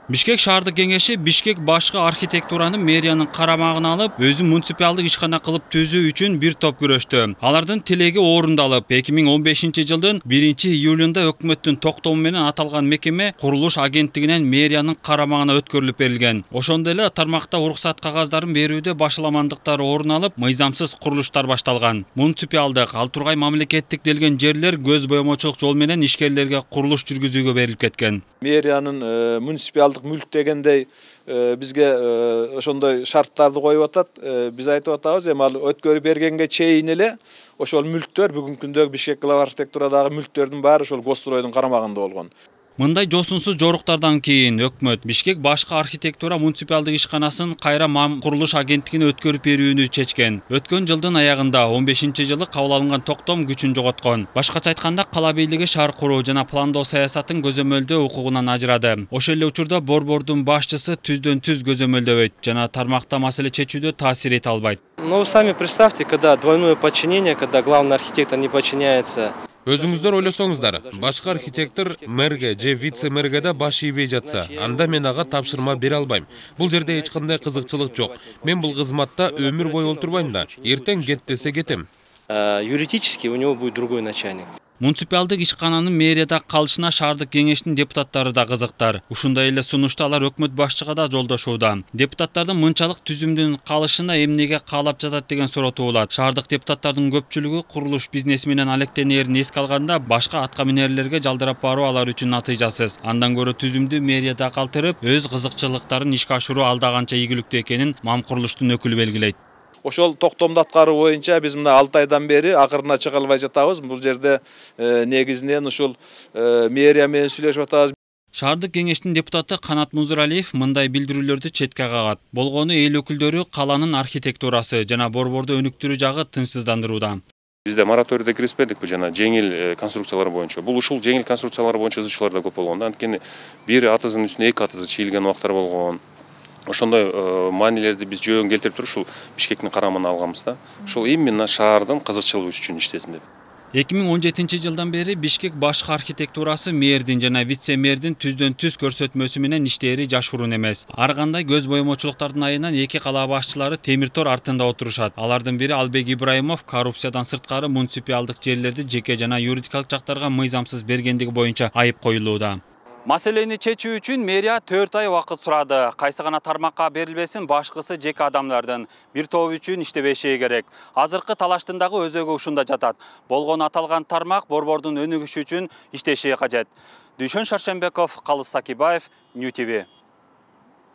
Бишкек шаардык кеңеши Бишкек башкы архитектураны мэриянын карамагына алып, өзү муниципалдык ишкана кылып түзүү үчүн бир топ күрөштү. Алардын тилеги орундалып, 2015-жылдын 1-июлунда өкмөттүн токтому менен аталган мекеме курулуш агенттигинен мэриянын карамагына өткөрүлүп берилген. Ошондой эле тармакта уруксат кагаздарын берүүдө башаламандыктар орун алып, мыйзамсыз курулуштар башталган. Муниципалдык, ал тургай мамлекеттик делген жерлер көз боемочулук жол менен ишкерлерге курулуш жүргүзүүгө берилип кеткен. Мэриянын муниципалдык мүлк дегендей бизге ошондой шарттарды коюп атат. Биз айтып атабыз, эми ал өткөрүп бергенге чейин эле ошол мүлктөр бүгүнкү күндөгү Бишкек глава архитектурадагы мүлктөрдүн баары ошол Госстройдун карамагында болгон. Мындай жосунсуз жоруктардан кийин өкмөт Бишкек башкы архитектура муниципалдык ишканасын кайра курулуш агенттигине өткөрүп берүүнү чечкен. Өткөн жылдын аягында 15-жылы кабыл алынган токтом күчүн жоготкон. Башкача айтканда, кала бийлиги шаар куруу жана пландоо саясатын көзөмөлдөө укугунан ажырады. Ошол эле учурда борбордун башчысы түздөн түз көзөмөлдөбөйт жана тармакта маселе чечүүдө таасир эте албайт. Ну вы сами представьте, когда двойное подчинение, когда главный архитектор не подчиняется. Өзүңүздөр ойлосоңуздар, башкы архитектор мэрге же вице-мэрге да баш ийбей жатса, анда мен ага тапшырма бере албайм. Бул жерде эч кандай кызыкчылык жок. Мен бул кызматта өмүр бою отурбайм да. Эртең кет десе кетем. Юридически у него будет другой начальник. Муниципалдык ишкананын мэрияда калышына шаардык кеңештин депутаттары да кызыктар. Ушундай эле сунушту алар өкмөт башчыга да жолдошууда. Депутаттардын мынчалык түзүмдүн калышына эмнеге каалап жатат деген суроо туулат. Шаардык депутаттардын көпчүлүгү курулуш бизнеси менен алектенээрин эске алганда, башка атка минерлерге жалдырап баруу алар үчүн натыйжасыз. Андан көрө түзүмдү мэрияда калтырып, өз кызыкчылыктарын ишке ашыруу алда канча ийгиликтүү экенин МАМ курулуштун өкүлү белгилейт. Ошол токтомду аткаруу боюнча биз мына 6 айдан бери акырына чыга албай жатабыз. Бул жерде негизинен ушул мэрия менен сүйлөшүп атабыз. Шаардык кеңештин депутаты Канат Музуралиев мындай билдирүүлөрдү четке кагат. Болгону эл өкүлдөрү каланын архитектурасы жана борборду өнүктүрүү жагы тынчсыздандырууда. Бизде мораторийде кириспедик, бул жана жеңил конструкциялар боюнча. Бул ушул жеңил конструкциялар боюнча изучуулар да көп болгон. Анткени бир атызын үстүнө 2 атызы чийилген убактар болгон. Ошондой маанилерди биз жөн келтирип туруп ушул Бишкектин карамагына алганбыз да. Ушул именно шаардын кызыкчылыгы үчүн иштесин деп. 2017-жылдан бери Бишкек башкы архитектурасы мэрдин жана вице-мэрдин түздөн түз көрсөтмөсү менен иштери жашыруун эмес. Ар кандай көз боемочулуктардын айынан 2 кала башчылары темир тор артында отурушат. Алардын бири Албек Ибраимов коррупциядан сырткары муниципалдык жерлерди жеке жана юридикалык жактарга мыйзамсыз бергендиги боюнча айып коюлууда. Маселени чечүү үчүн мэрия 4 ай убакыт сурады. Кайсы гана тармакка берилбесин, башкысы жеке адамдардын бир тобу үчүн иштебеши керек. Азыркы талаштын дагы өзөгү ушунда жатат. Болгону аталган тармак борбордун өнүгүшү үчүн иштеши кажет. Дүйшөн Шаршембеков, Калыс Сакибаев, Нью ТВ.